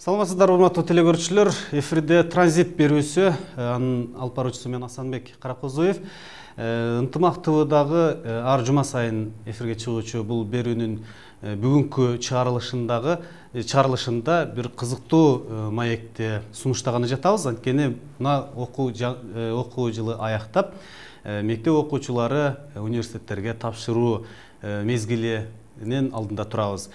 Саламатсыздар, урматтуу телекөрүүчүлөр. Эфирде транзит берүүсү, анын алып баруучусу мен Асанбек Каракозоев. Ынтымак ТВдагы ар жума сайын эфирге чыгуучу бул берүүнүн бүгүнкү чыгарылышында бир кызыктуу маекти сунуштаганы жатабыз. Анткени мына окуу жылы аяктап, мектеп окуучулары университеттерге тапшыруу мезгилинин алдында турабыз.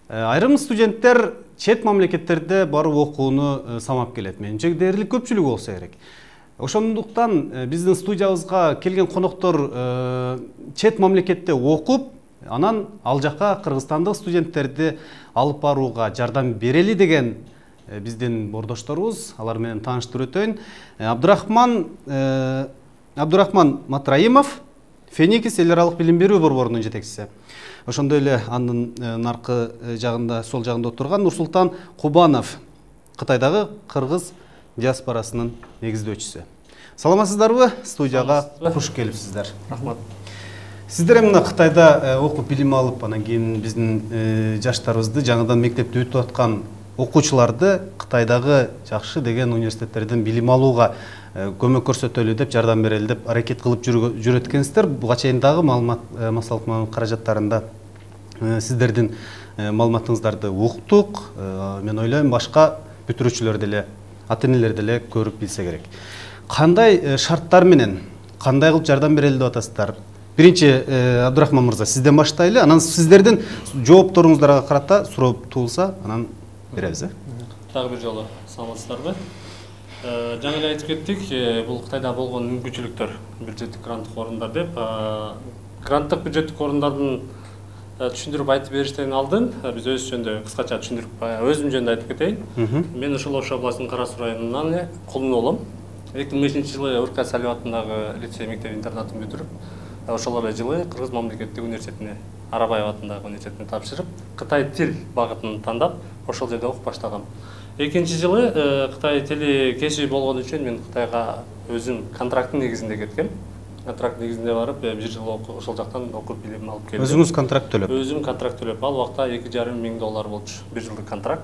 Айрым студенттер чет мамлекеттерде барып окууну самап келет. Менимче дээрлик көпчүлүк болсо керек. Ошондуктан биздин студиябызга келген коноктор чет мамлекетте окуп, анан ал жака кыргызстандык студенттерди алып барууга жардам берели деген биздин бордошторубуз. Алар менен тааныштырып өтөйүн. Абдурахман Матраимов, Феникис эл аралык билим берүү борборунун жетекчиси. Ошондой эле анын наркы жагында, сол жагында отурган Нурсултан Кубанов, Кытайдагы кыргыз диаспорасынын негиздөөчүсү. Саламатсыздарбы? Студияга куш келипсиздер. Рахмат. Сиздер мына Кытайда окуп билим алып, анан кийин биздин жаштарыбызды, жаңыдан мектепти бүтүп аткан окуучуларды Кытайдагы жакшы деген университеттерден билим алууга көмөк көрсөтөлү деп, жардам берели деп аракет кылып жүрөт экенсиздер. Буга чейин дагы массалык каражаттарында сиздердин маалыматыңыздарды уктук. Мен ойлойм, башка бүтүрүүчүлөр деле, ата-энелер деле көрүп билсе керек. Кандай шарттар менен, кандай кылып жардам берели деп атасыздар? Биринчи, Абдурахман мырза, сизден баштайлы. Анан сиздердин жоопторуңуздарга карата суроо туулса, анан беребиз. Дагы бир жолу саламатсыздарбы? Жаңы эле айтып кеттик, бул Кытайда болгон мүмкүнчүлүктөр, бюджеттик гранттык орундар деп. Гранттык бюджеттик орундардын түшүндүрүп айтып бериштен алдын биз өз жөнүндө кыскача түшүндүрүп, өзүм жөнүндө айтып кетейин. Мен ушул Ош областынын Кара Суу районунан Кулун болом. 2005-жылы Урка Салиев атындагы лицей мектеп интернатын бүтүрүп, ошол эле жылы Кыргыз мамлекеттик университетине, Арабаев атындагы университетине тапшырып, Кытай тил багытын тандап, ошол жерде окуп баштагам. Экинчи жылы Кытай тили кесиби болгон үчүн мен Кытайга өзүм контракттын негизинде кеткем. Контракт негизинде барып, бир жыл ошол жактан окуп билим алып келдим. Өзүңүз контракт төлөп? Өзүм контракт төлөп. Ал убакта $2,500 болчу. Бир жылдык контракт.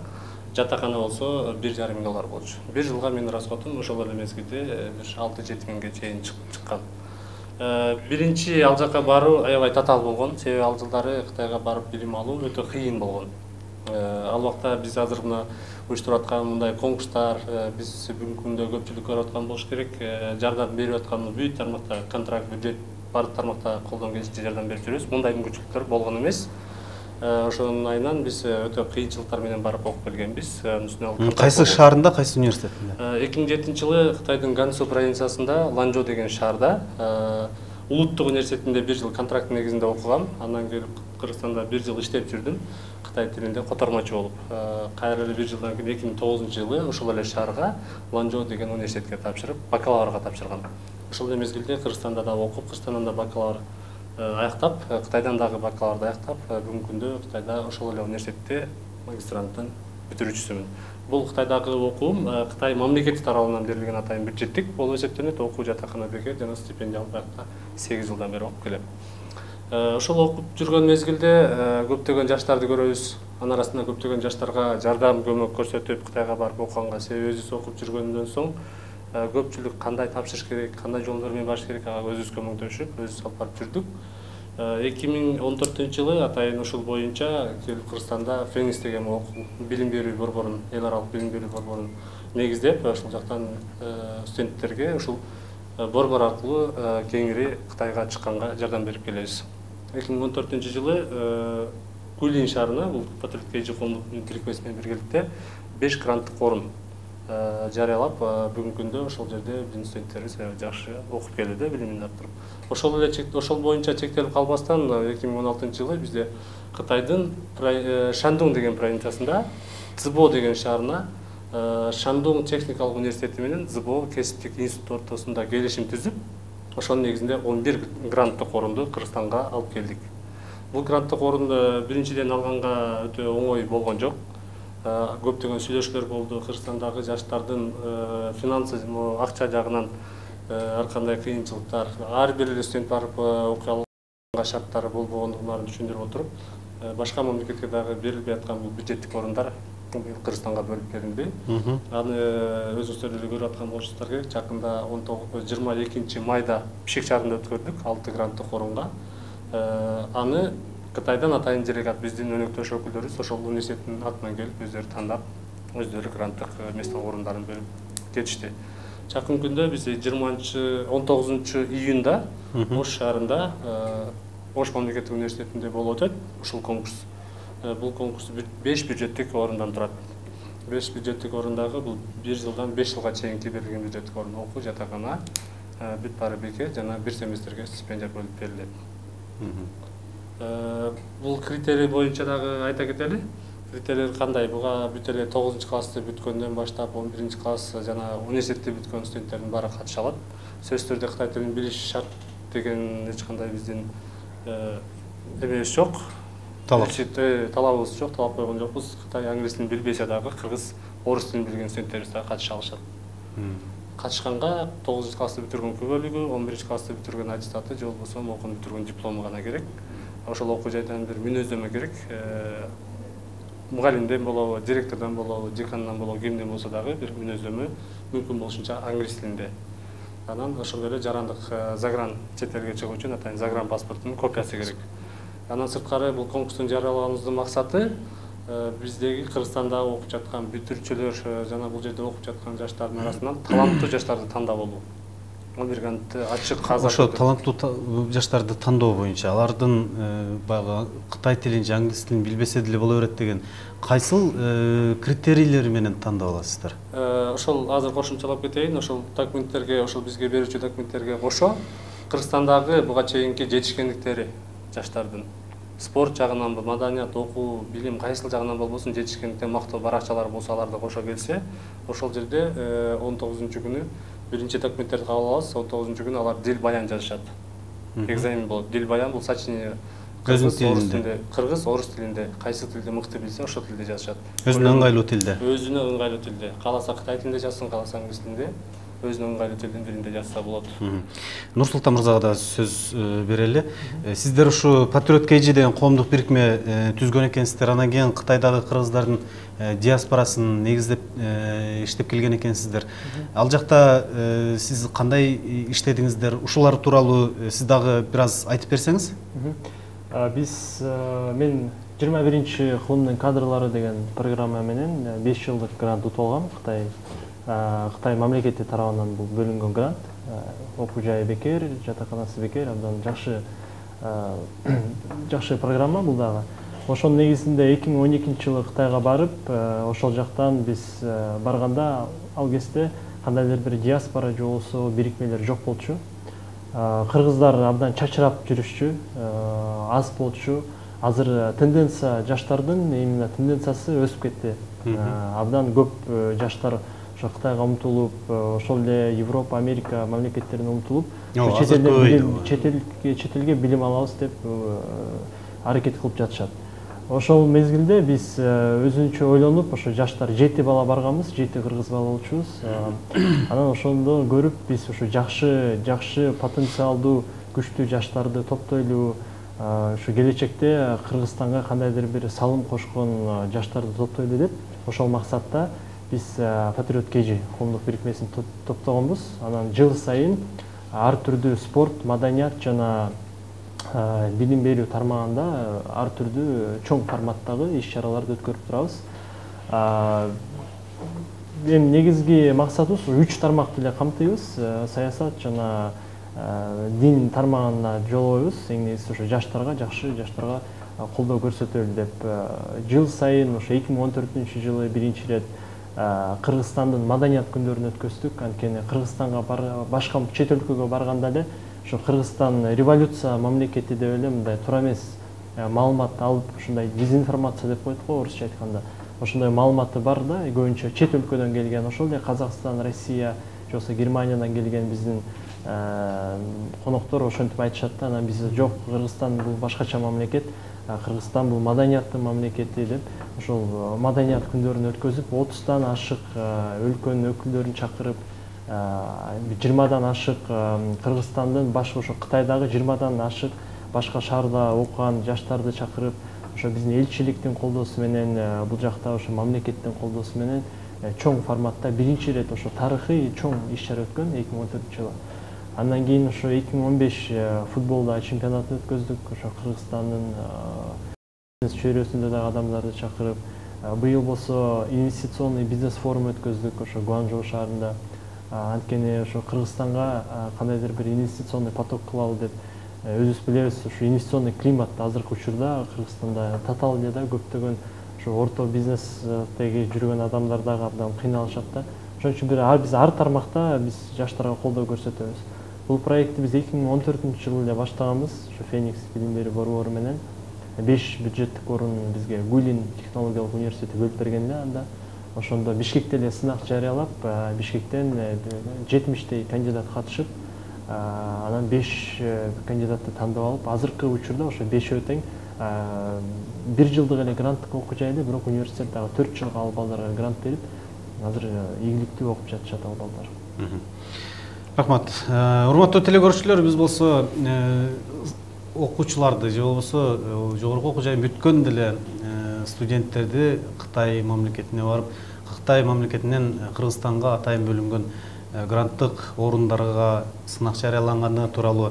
Жатакана болсо $1,500 болчу. Бир жылга менин расходум ошол эле мезгилде 6-7 миңге чейин чыккан. Биринчи ал жака баруу аябай татаал болгон. Себеби ал жылдары Кытайга барып билим алуу өтө кыйын болгон. Ал убакта биз азыр мына уюштуруп аткан мындай конкурстар, биз бүгүнкү күндө көпчүлүк көрүп аткан болуш керек. Жардам берип атканыбыз бүт тармакта, контракт, бюджет баардык тармакта колдон келишинче жардам берип жүрөбүз. Мындай мүмкүнчүлүктөр болгон эмес. Ошонун айынан биз өтө кыйынчылыктар менен барып окуп келгенбиз. Кайсы шаарында, кайсы университетинде? 2007-жылы Кытайдын Гансу провинциясында, Ланчжоу деген шаарда, Улуттук университетинде бир жыл контракт негизинде окугам. Андан келип Кыргызстанда бир жыл иштеп жүрдүм. Кытай тилинде котормочу болуп. Кайра эле бир жылдан кийин 2009-жылы ошол эле шаарга, Ланчжоу деген университетке тапшырып, бакалаврга тапшыргам. Ошол эле мезгилде Кыргызстанда да окуп, Кыргызстандан да бакалавр аяктап, Кытайдан дагы бакалаврды аяктап, бүгүнкү күндө Кытайда ошол эле университетте магистранттын бүтүрүүчүсүмүн. Бул Кытайдагы окуум Кытай мамлекети тарабынан берилген атайын бюджеттик болуп эсептенет. Окуу жатакана бекер жана стипендия алып аякта 8 жылдан бери окуп келем. Ошол окуп жүргөн мезгилде көптөгөн жаштарды көрөбүз. Анын арасында көптөгөн жаштарга жардам көмөк көрсөтүп, Кытайга барып окуганга, себеби өзүбүз окуп жүргөндөн соң көпчүлүк кандай тапшырыш керек, кандай жолдор менен барыш керек, ага өзүбүз көмөктөшүп, өзүбүз алып барып жүрдүк. 2014-жылы атайын ушул боюнча келип Кыргызстанда Феникс деген билим берүү борборун, эл аралык билим берүү борборун негиздеп, ошол жактан студенттерге ушул борбор аркылуу кеңири Кытайга чыкканга жардам берип келебиз. 2014-жылы Гулин шаарына, бул Патрик Кейджи коомдук тиликпеси менен биргеликте 5 гранттык орун жарыялап, бүгүнкү күндө ошол жерде биздин студенттерибиз жакшы окуп келүүдө, билимин арттырып. Ошол боюнча чектелип калбастан 2016-жылы бизде Кытайдын Шандун деген провинциясында Цзыбо деген шаарына Шандун техникалык университети менен Цзыбо кесиптик институт ортосунда келишим түзүп, ошонун негизинде 11 гранттык орунду Кыргызстанга алып келдик. Бул гранттык орунду биринчиден алганга өтө оңой болгон жок. Көптөгөн сүйлөшүүлөр болду. Кыргызстандагы жаштардын финансы, акча жагынан ар кандай кыйынчылыктар, ар бир эле студент барып окуя алганга шарттары болбогондугун түшүндүрүп отуруп, башка мамлекетке дагы берилбей аткан бул бюджеттик орундар Кыргызстанга бөлүп берилди. Аны өзүңүздөр деле көрүп аткан болушуңуздар керек. Жакында 22 майда Бишкек шаарында өткөрдүк 6 гранттык орунга. Аны Кытайдан атайын делегат биздин өнөктөш өкүлдөрүбүз ошол университеттин атынан келип өздөрү тандап, өздөрү гранттык место орундарын бөлүп кетишти. Жакын күндө биз 19 июнда Ош шаарында Ош мамлекеттик университетинде болуп өтөт ушул конкурс. Бул конкурс 5 бюджеттик орундан турат. 5 бюджеттик орундагы бул 1 жылдан 5 жылга чейинки берилген бюджеттик орун окуу жатакана, бүт баары бекер жана бир семестрге стипендия бөлүп берилет. Бул критерий боюнча дагы айта кетели. Критерийлер кандай? Буга бүт эле 9 классты бүткөндөн баштап 11 класс жана университетти бүткөн студенттердин баары катыша алат. Сөзсүз түрдө Кытай тилин билиш шарт деген эч кандай биздин эмебиз жок. Талабыбыз жок, талап койгон жокпуз. Кытай англис тилин билбесе дагы кыргыз, орус тилин билген студенттерибиз дагы катыша алышат. Катышканга 9 классты бүтүргөн күбөлүгү, 11 классты бүтүргөн аттестаты же болбосо окууну бүтүргөн диплому гана керек. Ошол окуу жайдан бир мүнөздөмө керек. Мугалимден болобу, директордон болобу, декандан болобу, кимден болсо дагы бир мүнөздөмө мүмкүн болушунча англис тилинде. Анан ошол эле жарандык загран чет элге чыгуу үчүн атайын загран паспортунун копиясы керек. Андан сырткары бул конкурстун жарыялаганыбыздын максаты биздеги Кыргызстанда окуп жаткан бүтүрүүчүлөр жана бул жерде окуп жаткан жаштардын арасынан таланттуу жаштарды тандап алуу. Американты ачык казак. Ошо таланттуу жаштарды тандоо боюнча алардын баягы Кытай тилин же англис тилин билбесе деле боло берет деген кайсыл критерийлери менен тандап аласыздар? Ошол азыр кошумчалап кетейин. Ошол документтерге, ошол бизге берүүчү документтерге кошо Кыргызстандагы буга чейинки жетишкендиктери жаштардын спорт жагынан, маданият, окуу, билим кайсыл жагынан болбосун жетишкендиктен мактоо баракчалар болсо аларды кошо келсе, ошол жерде 19-күнү биринчи документтерди кабыл алабыз. 19-күнү алар дил баян жазышат. Экзамен болот. Дил баян бул сочинение кыргыз, орус тилинде, кайсы тилди мыкты билсе, ошол тилде жазышат. Өзүнө ыңгайлуу тилде. Өзүнө ыңгайлуу тилде. Кааласа Кытай тилинде жазсын, кааласа англис тилинде. Өзүнө ыңгайлуу тилдин биринде жазса болот. Нурсултан мырзага да сөз берели. Сиздер ушу Патриот KG деген коомдук бирикме түзгөн экенсиздер. Анан кийин Кытайдагы кыргыздардын диаспорасын негиздеп иштеп келген экенсиздер. Ал жакта сиз кандай иштедиңиздер? Ушулар тууралуу сиз дагы бир аз айтып берсеңиз? Мен 21-чи кылымдын кадрлары деген программа менен 5 жылдык грант утуп алгам. Кытай мамлекети тарабынан бул бөлүнгөн грант. Окуу жайы бекер, жатаканасы бекер, абдан жакшы программа бул дагы. Ошонун негизинде 2012-жылы Кытайга барып, ошол жактан биз барганда ал кезде кандайдыр бир диаспора же болбосо бирикмелер жок болчу. Кыргыздар абдан чачырап жүрүшчү, аз болчу. Азыр тенденция жаштардын именно тенденциясы өсүп кетти. Абдан көп жаштар Кытайга умтулуп, ошол эле Европа, Америка мамлекеттерине умтулуп, чет элге билим алабыз деп аракет кылып жатышат. Ошол мезгилде биз өзүнчө ойлонуп, ошо жаштар 7 бала барганбыз, 7 кыргыз бала болчубуз. Анан ошондо көрүп биз ошо жакшы потенциалдуу, күчтүү жаштарды топтойлу, ушу келечекте Кыргызстанга кандайдыр бир салым кошкон жаштарды топтойлу деп, ошол максатта биз Патриот KG коомдук бирикмесин топтогонбуз. Анан жыл сайын ар түрдүү спорт, маданият жана билим берүү тармагында ар түрдүү чоң форматтагы иш-чараларды өткөрүп турабыз. Эми негизги максатыбыз 3 тармакты эле камтыйбыз. Саясат жана дин тармагына жолобойбуз. Эң негизгиси ошо жаштарга колдоо көрсөтөлү деп жыл сайын ошо 2014-жылы биринчи ирет Кыргызстандын маданият күндөрүн өткөздүк. Анткени Кыргызстанга башка чет өлкөгө барганда эле ошо Кыргызстан революция мамлекети деп эле мындай туура эмес маалымат алып, ушундай дезинформация деп коет го орусча айтканда. Ошондой маалыматы бар да, көбүнчө чет өлкөдөн келген, ошол эле Казакстан, Россия, же болбосо Германиядан келген биздин коноктор ошентип айтышат да. Анан биз жок, Кыргызстан бул башкача мамлекет, Кыргызстан бул маданияттын мамлекети деп ошол маданият күндөрүн өткөзүп, 30-дан ашык өлкөнүн өкүлдөрүн чакырып, 20-дан ашык Кыргызстандын башка ошо Кытайдагы 20-дан ашык башка шаарда окуган жаштарды чакырып, ошо биздин элчиликтин колдоосу менен бул жакта ошо мамлекеттин колдоосу менен чоң форматта биринчи ирет ошо тарыхый чоң иш-чара өткөн 2014-жылы. Андан кийин ошо 2015 футболда чемпионатын өткөздүк, ошо Кыргызстандын чөйрөсүндө дагы адамдарды чакырып, быйыл болсо инвестиционный бизнес форум өткөздүк ошо Гуанчжоу шаарында. Анткени ошо Кыргызстанга кандайдыр бир инвестиционный поток кылалы деп өзүбүз билебиз, ушу инвестиционный климат азыркы учурда Кыргызстанда татаал эле да, көптөгөн ошо орто бизнестеги жүргөн адамдар дагы абдан кыйналышат да. Ошон үчүн биз ар тармакта биз жаштарга колдоо көрсөтөбүз. Бул проектти биз 2014-жылы эле баштаганбыз, ошо Феникс билим берүү борбору менен 5 бюджеттик орун бизге Гулин технологиялык университети бөлүп берген эле анда. Ошондо Бишкекте эле сынак жарыялап, Бишкектен 70 кандидат катышып, анан 5 кандидатты тандап алып, азыркы учурда ошо 5 тең 1 жылдык эле гранттык окуу жайы, бирок университет дагы 4 жылга ал балдарга грант берип, азыр ийгиликтүү окуп жатышат ал балдар. Рахмат. Урматтуу телекөрүүчүлөр, биз болсо окуучуларды же болбосо жогорку окуу жайын бүткөн деле студенттерди Кытай мамлекетине барып, Кытай мамлекетинен Кыргызстанга атайын бөлүнгөн гранттык орундарга сынак жарыяланганы тууралуу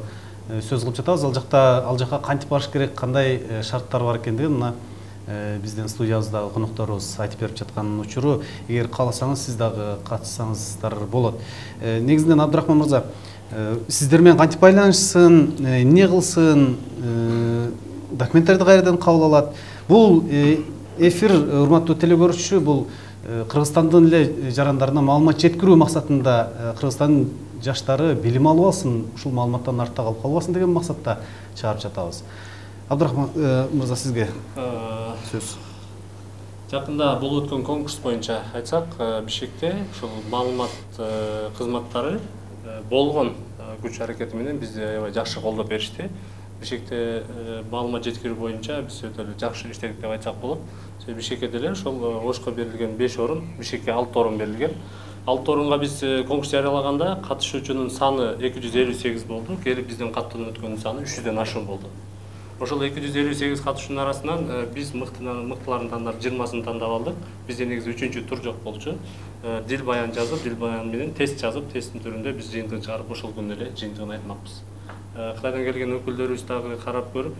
сөз кылып жатабыз. Ал жака кантип барыш керек, кандай шарттар бар экендигин мына биздин студиябыздагы конокторубуз айтып берип жаткан учуру. Эгер кааласаңыз, сиз дагы катышсаңыздар болот. Негизинен Абдрахман мырза, сиздер менен кантип байланышсын, эмне кылсын, документтерди кайрадан кабыл алат? Бул эфир, урматтуу телекөрүүчү, бул Кыргызстандын эле жарандарына маалымат жеткирүү максатында Кыргызстандын жаштары билим алып алсын, ушул маалыматтан артта калып калбасын деген максатта чыгарып жатабыз. Абдрахман мырза, сизге сөз. Жакында болуп өткөн конкурс боюнча айтсак, Бишкекте ушул маалымат кызматтары болгон күч аракети менен бизди аябай жакшы колдоп беришти. Бишкекте маалымат жеткирүү боюнча биз өтө жакшы иштедик деп айтсак болот. Бишкекке деле ошол Ошко берилген 5 орун, Бишкекке 6 орун берилген. 6 орунга биз конкурс жарыялаганда катышуучунун саны 258 болду, келип биздин каттанып өткөнүн саны 300дөн ашуун болду. Ошол 258 катышуунун арасынан биз мыктыларын тандап 20сын тандап алдык. Бизде негизи 3-чү тур жок болчу. Дил баян жазып, дил баян менен тест жазып, тесттин түрүндө биз жыйынтыгын чыгарып ошол күнү эле жыйынтыгын айтмакпыз. Кытайдан келген өкүлдөрүбүз дагы карап көрүп,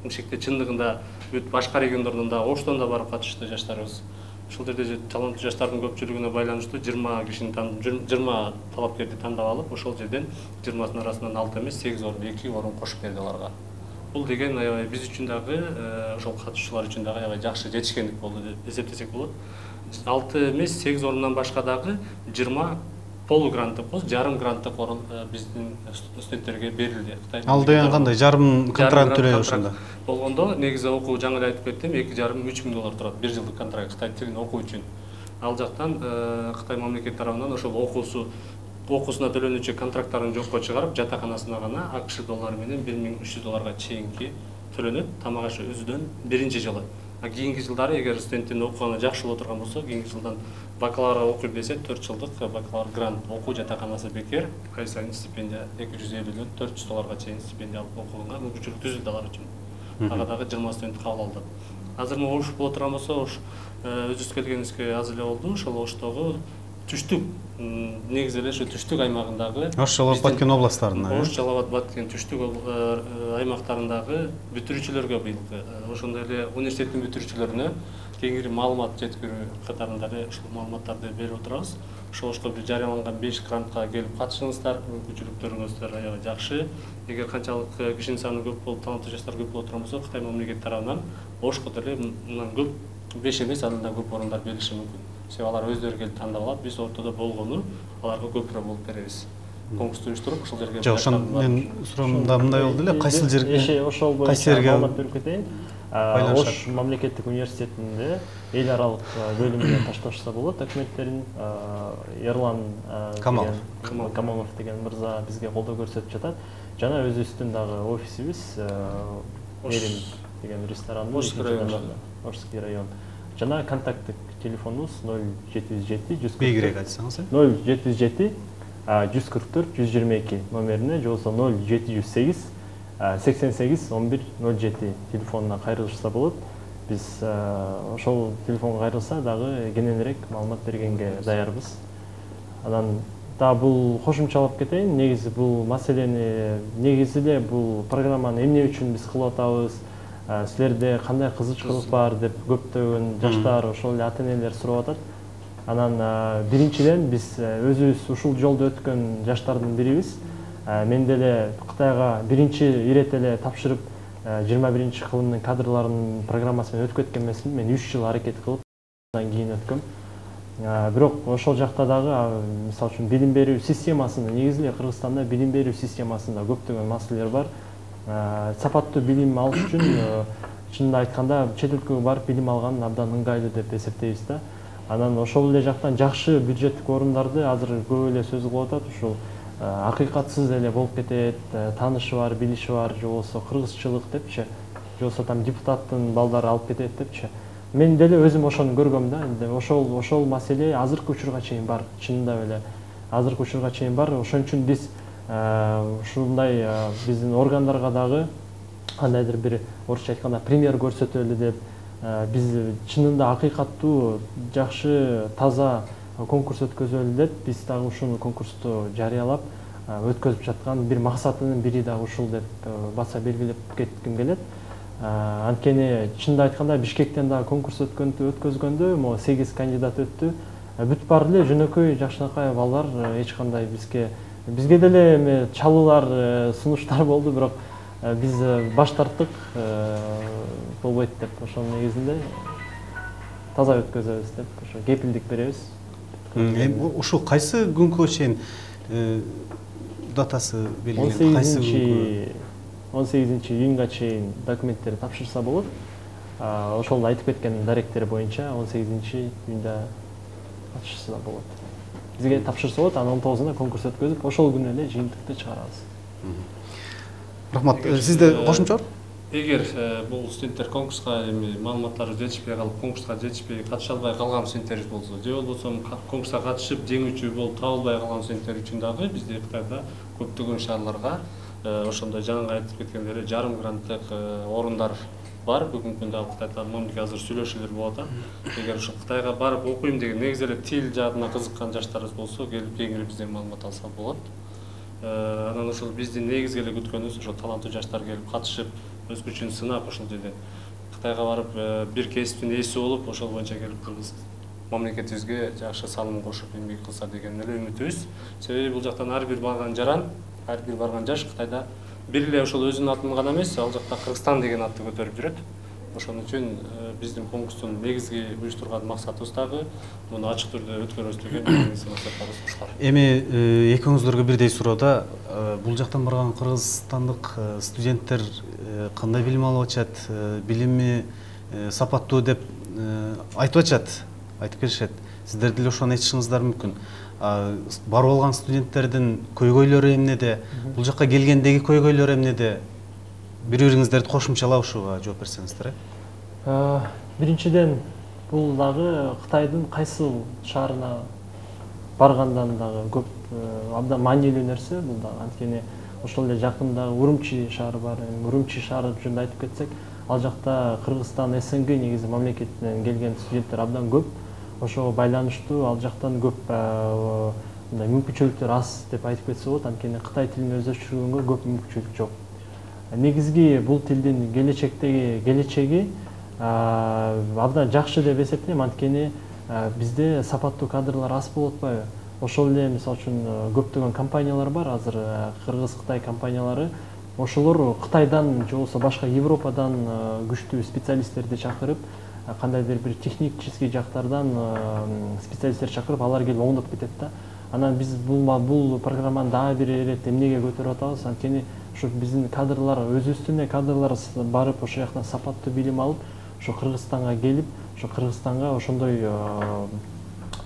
Бишкекте чындыгында бүт башка региондордон да, Оштон да барып катышты жаштарыбыз. Ушул жерде таланттуу жаштардын көпчүлүгүнө байланыштуу 20 талапкерди тандап алып, ошол жерден 20 арасынан 6 эмес 8 орун, 2 орун кошуп берди аларга. Бул деген аябай биз үчүн дагы, ошол катышуучулар үчүн дагы аябай жакшы жетишкендик болду деп эсептесек болот. 6 эмес 8 орундан башка дагы 20 полугранттык, жарым гранттык орун биздин студенттерге берилди. Ал деген кандай? Жарым контракт төлөйбүз ошондо. Болгондо негизи окуу, жаңы эле айтып кеттим, $2,5–3,000 турат 1 жылдык контракт Кытай тилин окуу үчүн. Ал жактан Кытай мамлекети тарабынан ошол окуусуна төлөнүүчү контракттарын жокко чыгарып, жатаканасына гана АКШ доллары менен $1,300 чейинки төлөнөт, тамак ашы өзүдөн биринчи жылы. Кийинки жылдары эгер студенттин окуганы жакшы боло турган болсо, кийинки жылдан бакалавр окуйм десе 4 жылдык бакалавр грант окуу жатаканасы бекер, ай сайын стипендия $250дөн $400 чейин стипендия алып окууга мүмкүнчүлүк түзүлдү алар үчүн. Ага дагы 20 студент кабыл алды. Азыр Ош боло турган болсо, Ош өзүбүз келгенибизге аз эле болду. Ошол Оштогу түштүк, негизи эле ушу түштүк аймагындагы Ош, Жалал абад, Баткен областтарында. Ош, Жалал абад, Баткен түштүк аймактарындагы бүтүрүүчүлөргө быйыл ошондой эле университеттин бүтүрүүчүлөрүнө кеңири маалымат жеткирүү катарында эле ушул маалыматтарды берип отурабыз. Ошо бир жарыяланган 5 грантка келип катышыңыздар, мүмкүнчүлүктөрүңүздөр аябай жакшы. Эгер канчалык кишинин саны көп болуп, таланттуу жаштар көп боло турган болсо, Кытай мамлекети тарабынан Ошко деле мындан көп 5 эмес, андан да көп орундар берилиши мүмкүн. Себеби алар өздөрү келип тандап алат, биз ортодо болгону аларга көпүрөөк болуп беребиз. Конкурсту уюштуруп, ошол жерге. Жок, мен суроомда мындай болду эле, кайсыл жерге? Ошол боюнча маалымат берип кетейин. Ош мамлекеттик университетинде эл аралык бөлүмүнө ташташса болот документтерин. Ерлан Камалов деген мырза бизге колдоо көрсөтүп жатат. Жана өзүбүздүн дагы офисибиз Мерим деген ресторанды, Ошский район. Жана контакттык телефонубуз 0707 бегирээк айтсаңыз. 0707 144 122 номерине, же болбосо 0708 88 11 07 телефонуна кайрылышса болот. биз ошол телефонго кайрылса дагы кененирээк маалымат бергенге даярбыз. Анан да бул кошумчалап кетейин, негизи бул маселени, негизи эле бул программаны эмне үчүн биз кылып атабыз, силерде кандай кызычкылык бар деп көптөгөн жаштар, ошол эле ата-энелер сурап атат. Анан биринчиден биз өзүбүз ушул жолду өткөн жаштардын бирибиз. Мен деле Кытайга биринчи ирет эле тапшырып 21-кылымдын кадрларынын программасы менен өтүп кеткен эмесмин. Мен 3 жыл аракет кылып андан кийин өткөм. Бирок ошол жакта дагы мисалы үчүн билим берүү системасында, негизи эле Кыргызстанда билим берүү системасында көптөгөн маселелер бар. Сапаттуу билим алыш үчүн чынында айтканда чет өлкөгө барып билим алган абдан ыңгайлуу деп эсептейбиз да. Анан ошол эле жактан жакшы бюджеттик орундарды азыр көп эле сөз кылып атат. Ушул акыйкатсыз эле болуп кетет, таанышы бар, билиши бар, же болбосо кыргызчылык депчи, же болбосо там депутаттын балдары алып кетет депчи. Мен деле өзүм ошону көргөм да. Ошол маселе азыркы учурга чейин бар. Чынында эле азыркы учурга чейин бар. Ошон үчүн биз ушундай биздин органдарга дагы кандайдыр бир орусча айтканда пример көрсөтөлү деп, биз чынында акыйкаттуу, жакшы, таза конкурс өткөзөлү деп, биз дагы ушуну конкурсту жарыялап өткөзүп жаткан бир максатынын бири дагы ушул деп баса белгилеп кетким келет. Анткени чынында айтканда Бишкектен дагы конкурс өткөзгөндө 8 кандидат өттү. Бүт баары эле жөнөкөй жакшынакай балдар, эч кандай бизге деле эме чалуулар, сунуштар болду, бирок биз баш тарттык, болбойт деп, ошонун негизинде таза өткөзөбүз деп, ошо кепилдик беребиз. Ушул кайсы күнгө чейин датасы белгиленген? Кайсы күнгө? 18 июнга чейин документтерди тапшырса болот. Ошол айтып кеткен даректер боюнча 18 июнда тапшырса болот. Бизге тапшырса болот, анан 19-унда конкурс өткөзүп, ошол күнү эле жыйынтыкты чыгарабыз. Рахмат. Сизде кошумча бар? Эгер бул студенттер конкурска маалыматтары жетишпей калып, конкурска жетишпей катыша албай калган студенттерибиз болсо, же болбосо конкурска катышып жеңүүчү болуп табылбай калган студенттер үчүн дагы бизде Кытайда көптөгөн шаарларга ошондой жаңы айтып кеткендей жарым гранттык орундар бар. Бүгүнкү күндө Кытайда мамлекет азыр сүйлөшүүлөр болуп атат. Эгер ошо Кытайга барып окуйм деген негизи эле тил жаатына кызыккан жаштарыбыз болсо, келип кеңири бизден маалымат алса болот. Анан ошол биздин негизги эле күткөнүбүз ошо таланттуу жаштар келип катышып, өз күчүн сынап, ошол жерде Кытайга барып бир кесиптин ээси болуп, ошол боюнча келип кыргыз мамлекетибизге жакшы салым кошуп эмгек кылса деген эле үмүтүбүз. Себеби бул жактан ар бир барган жаран, ар бир барган жаш Кытайда бир эле ошол өзүнүн атын гана эмес, ал жакта Кыргызстан деген атты көтөрүп жүрөт. Ошон үчүн биздин конкурстун негизги уюштурган максатыбыз дагы муну ачык түрдө өткөрөбүз деген максаттарыбыз ушулар. Эми экөөңүздөргө бирдей суроо. Бул жактан барган кыргызстандык студенттер кандай билим алып атышат, билими сапаттуу деп айтып атышат, айтып келишет. Сиздер деле ошону айтышыңыздар мүмкүн. Барып алган студенттердин көйгөйлөрү эмнеде? Бул жакка келгендеги көйгөйлөр эмнеде? Бири-бириңиздерди кошумчалап ушуга жооп берсеңиздер. Биринчиден, бул дагы Кытайдын кайсы шаарына баргандан дагы көп абдан маанилүү нерсе бул дагы. Анткени ошол эле жакындагы Урумчи шаары бар. Урумчи шаары жөнүндө айтып кетсек, ал жакта Кыргызстан, СНГ негизи мамлекетинен келген студенттер абдан көп. Ошого байланыштуу ал жактан көп мүмкүнчүлүктөр аз деп айтып кетсе болот. Анткени Кытай тилин өздөштүргөнгө көп мүмкүнчүлүк жок. Негизги бул тилдин келечеги абдан жакшы деп эсептейм. Анткени бизде сапаттуу кадрлар аз болуп атпайбы? Ошол эле мисалы үчүн көптөгөн компаниялар бар азыр, Кыргыз-Кытай компаниялары. Ошолор Кытайдан же болбосо башка Европадан күчтүү специалисттерди чакырып, кандайдыр бир технический жактардан специалисттер чакырып, алар келип оңдоп кетет да. Анан биз бул программаны дагы бир ирет эмнеге көтөрүп атабыз? Анткени ошо биздин кадрлар, өзүбүздүн кадрлар барып ошол жактан сапаттуу билим алып, ошо Кыргызстанга келип, ошо Кыргызстанга ошондой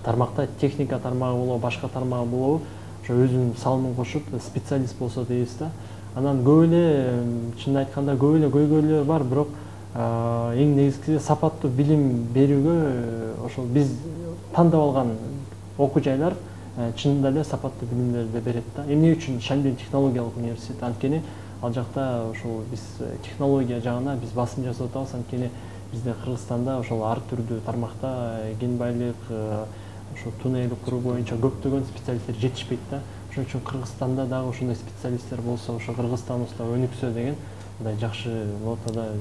тармакта техника тармагы болобу, башка тармагы болобу, ошо өзүнүн салымын кошуп специалист болсо дейбиз да. Анан көп эле, чынын айтканда көп эле көйгөйлөр бар, бирок эң негизгиси сапаттуу билим берүүгө ошол биз тандап алган окуу жайлар чынында эле сапаттуу билимдерди берет да. Эмне үчүн Шаньбин технологиялык университети? Анткени ал жакта ошол биз технология жагына биз басым жасап атабыз. Анткени бизде Кыргызстанда ошол ар түрдүү тармакта кен байлык, ошо туннель куруу боюнча көптөгөн специалисттер жетишпейт да. Ошон үчүн Кыргызстанда дагы ошондой специалисттер болсо, ошо Кыргызстаныбызда өнүксө деген мындай жакшы нотада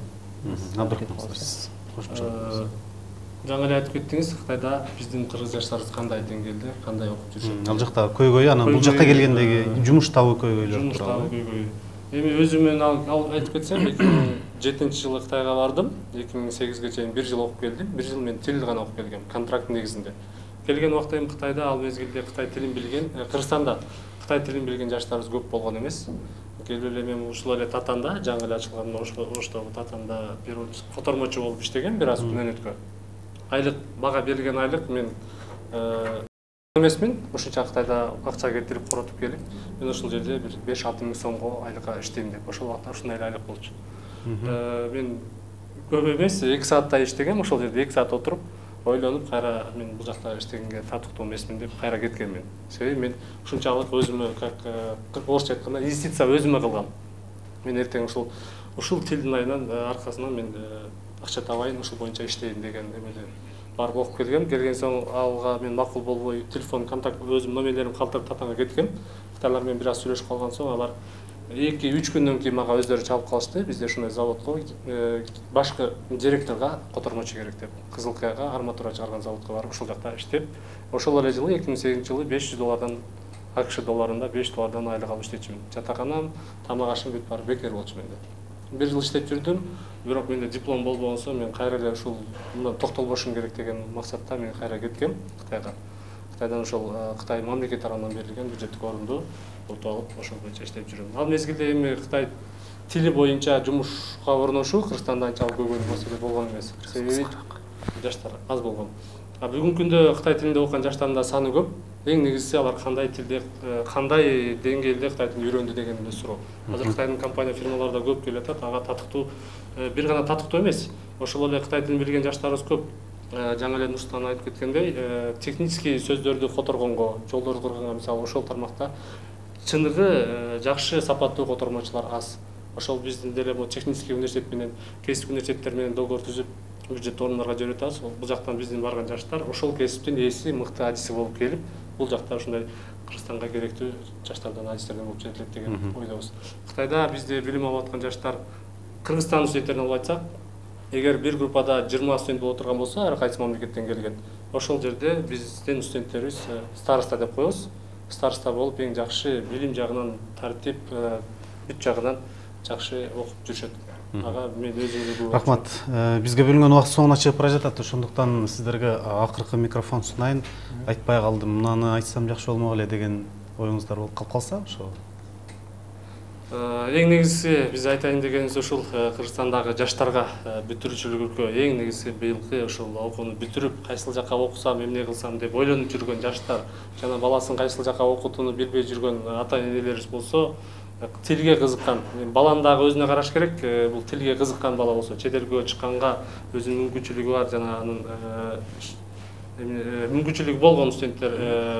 абдан коштошобуз. Жаңы эле айтып кеттиңиз, Кытайда биздин кыргыз жаштарыбыз кандай деңгээлде, кандай окуп жүрүшөт? Ал жакта көйгөй, анан бул жакка келгендеги жумуш табуу көйгөйлөр тууралуу. Эми өзүмөн айтып кетсем, 2007-жылы Кытайга бардым, 2008-ге чейин 1 жыл окуп келдим. 1 жыл мен тил гана окуп келгем, контракт негизинде. Келген убакта эми Кытайда ал мезгилде Кытай тилин билген, Кыргызстанда Кытай тилин билген жаштарыбыз көп болгон эмес. Келип эле мен ушул эле Татанда, жаңы эле ачылган Оштогу Татанда котормочу болуп иштегем бир аз күнөөнөткө. Айлык, бага берилген айлык мен эмесмин, ошонча Кытайда акча кетирип коротуп келип, мен ошол жерде бир 5-6 миң сомго айлыкка иштейм деп, ошол убакта ушундай эле айлык болчу. Мен көп эмес, 2 сааттай иштегем, ошол жерде 2 саат отуруп, ойлонуп, кайра мен бул жакта иштегенге татыктуу эмесмин деп кайра кеткем мен. Себеби мен ушунчалык өзүмө, как орусча айтканда, инвестиция өзүмө кылгам. Мен эртең ушул тилдин айынан аркасынан мен акча табайын, ушул боюнча иштейин деген эмеден барып окуп келгем. Келген соң алга мен макул болбой, телефон контакт өзүм номерлерим калтырып Татанга кеткем. Кытайлар менен бир аз сүйлөшүп калган соң алар 2-3 күндөн кийин мага өздөрү чалып калышты. Бизде ушундай заводко башкы директорго котормочу керек деп, Кызыл Кыяга арматура чыгарган заводко барып ушул жакта иштеп, ошол эле жылы 2008-жылы $500 АКШ долларында $5 айлык алып иштечүмүн. Жатаканам, тамак ашым бүт баары бекер болчу менде. 1 жыл иштеп жүрдүм, бирок менде диплом болбогон соң мен кайра эле ушул мындан токтолбошум керек деген максатта мен кайра кеткем Кытайга. Кытайдан ошол Кытай мамлекет тарабынан берилген бюджеттик орунду утуп алып, ошол боюнча иштеп жүрөм. Ал мезгилде эми Кытай тили боюнча жумушка орношуу Кыргызстанда анчалык көйгөйлүү маселе болгон эмес. Себеби жаштар аз болгон. Бүгүнкү күндө Кытай тилинде окуган жаштардын да саны көп. Эң негизгиси алар кандай тилде, кандай деңгээлде Кытай тилин үйрөндү деген эле суроо. Азыр Кытайдын компания фирмалары да көп келип атат, ага татыктуу, бир гана татыктуу эмес, ошол эле Кытай тилин билген жаштарыбыз көп. Жаңы эле Нурсултан айтып кеткендей, технический сөздөрдү котормогонго, жолдорду курганга, мисалы ошол тармакта чыныгы жакшы сапаттуу котормочулар аз. Ошол биздин деле бул технический университет менен, кесип университеттер менен договор түзүп, бюджет орундарга жиберип атабыз. Бул жактан биздин барган жаштар ошол кесиптин ээси, мыкты адиси болуп келип, бул жакта ушундай Кыргызстанга керектүү жаштардан адистерден болуп жетилет деген ойдобуз. Кытайда бизде билим алып аткан жаштар Кыргызстан студенттерин алып айтсак, эгер бир группада 20 студент болуп отурган болсо, ар кайсы мамлекеттен келген, ошол жерде биздин студенттерибиз староста деп коебуз. Староста болуп эң жакшы билим жагынан, тартип, бүт жагынан жакшы окуп жүрүшөт. Ага мен өзүмдү рахмат. Бизге бөлүнгөн убакыт соңуна чыгып бара жатат. Ошондуктан сиздерге акыркы микрофон сунайын. Айтпай калдым, мынаны айтсам жакшы болмок эле деген оюңуздар болуп калып калса, ошо. Эң негизгиси биз айтайын дегенибиз ушул Кыргызстандагы жаштарга бүтүрүүчүлүккө эң негизги быйылкы ушул окууну бүтүрүп, кайсыл жакка окусам, эмне кылсам деп ойлонуп жүргөн жаштар, жана баласын кайсыл жакка окутууну билбей жүргөн ата-энелерибиз болсо, тилге кызыккан, баланы дагы өзүнө караш керек, бул тилге кызыккан бала болсо, чет элге чыкканга өзүнүн мүмкүнчүлүгү бар, жана анын мүмкүнчүлүгү болгон студенттер,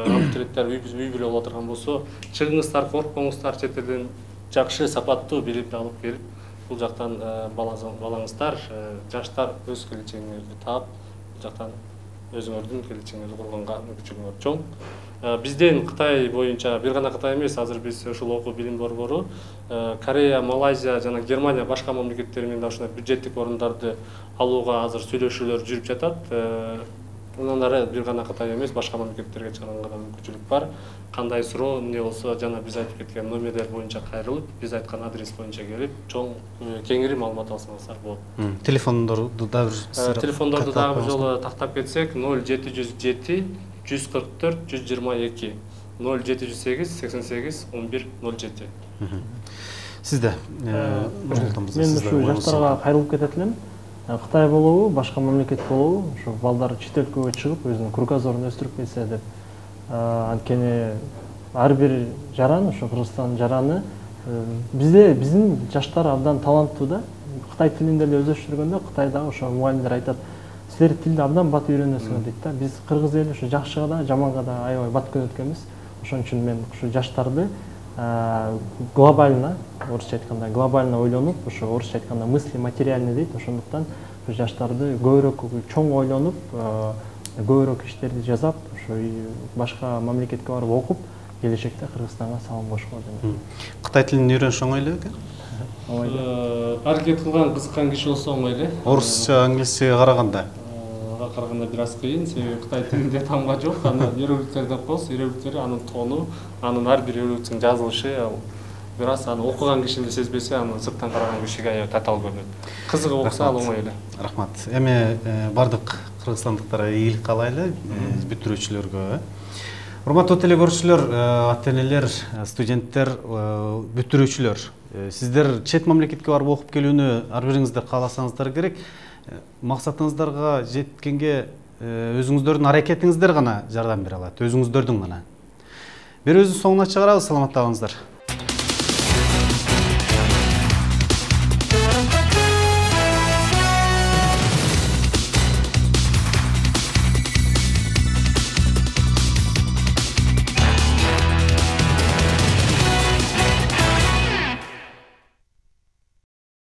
абитуриенттер үй бүлө боло турган болсо, чыгыңыздар, коркпоңуздар, чет элден жакшы сапаттуу билимди алып келип, бул жактан балаңыздар, жаштар өз келечегиңерди таап, бул жактан өзүңөрдүн келечегиңерди курганга мүмкүнчүлүгүңөр чоң. Бизден Кытай боюнча, бир гана Кытай эмес, азыр биз ушул окуу билим борбору Корея, Малайзия жана Германия башка мамлекеттер менен да ушундай бюджеттик орундарды алууга азыр сүйлөшүүлөр жүрүп жатат. Мындан ары бир гана Кытай эмес, башка мамлекеттерге чыганга да мүмкүнчүлүк бар. Кандай суроо, эмне болсо, жана биз айтып кеткен номерлер боюнча кайрылып, биз айткан адрес боюнча келип, чоң кеңири маалымат алсаңыздар болот. Телефондорду дагы телефондорду дагы бир жолу тактап кетсек, 0707 144 122 0708 88 11 07. Сизде мен ушу жаштарга кайрылып кетет элем. Кытай болобу, башка мамлекет болобу, ушу балдар чет өлкөгө чыгып өзүнүн кругозорун өстүрүп келсе деп. Анткени ар бир жаран, ушу Кыргызстан жараны бизде биздин жаштар абдан таланттуу да. Кытай тилинде эле өздөштүргөндө Кытайда ошо мугалимдер айтат, силер тилди абдан бат үйрөнөсүңөр дейт да. Биз кыргыз эли ушу жакшыга да, жаманга да аябай бат көрөт экенбиз. Ошон үчүн мен ушу жаштарды глобально, орусча айтканда глобально ойлонуп, ошо орусча айтканда мысли материальный дейт. Ошондуктан жаштарды көбүрөөк чоң ойлонуп, көбүрөөк иштерди жасап, ошо башка мамлекетке барып окуп, келечекте Кыргызстанга салым кошкон дейм. Кытай тилин үйрөнүш оңой эле бекен? Аракет кылган кызыккан киши болсо оңой эле. Орусча, англисчеге караганда? Караганда бир аз кыйын, себеби Кытай тилинде тамга жок. Анан иероглифтерди окуйбуз, иероглифтери анын тону, анын ар бир иероглифтин жазылышы, бир аз аны окуган киши эле сезбесе, аны сырттан караган кишиге аябай татаал көрүнөт. Кызыгып окуса ал оңой эле. Рахмат. Эми бардык кыргызстандыктарга ийгилик каалайлы, бүтүрүүчүлөргө. Урматтуу теле көрүүчүлөр, ата-энелер, студенттер, бүтүрүүчүлөр, сиздер чет мамлекетке барып окуп келүүнү ар бириңиздер кааласаңыздар керек. Максатыңыздарга жеткенге өзүңүздөрдүн аракетиңиздер гана жардам бере алат, өзүңүздөрдүн гана. Берүүбүздүн соңуна чыгарабыз, саламатта калыңыздар.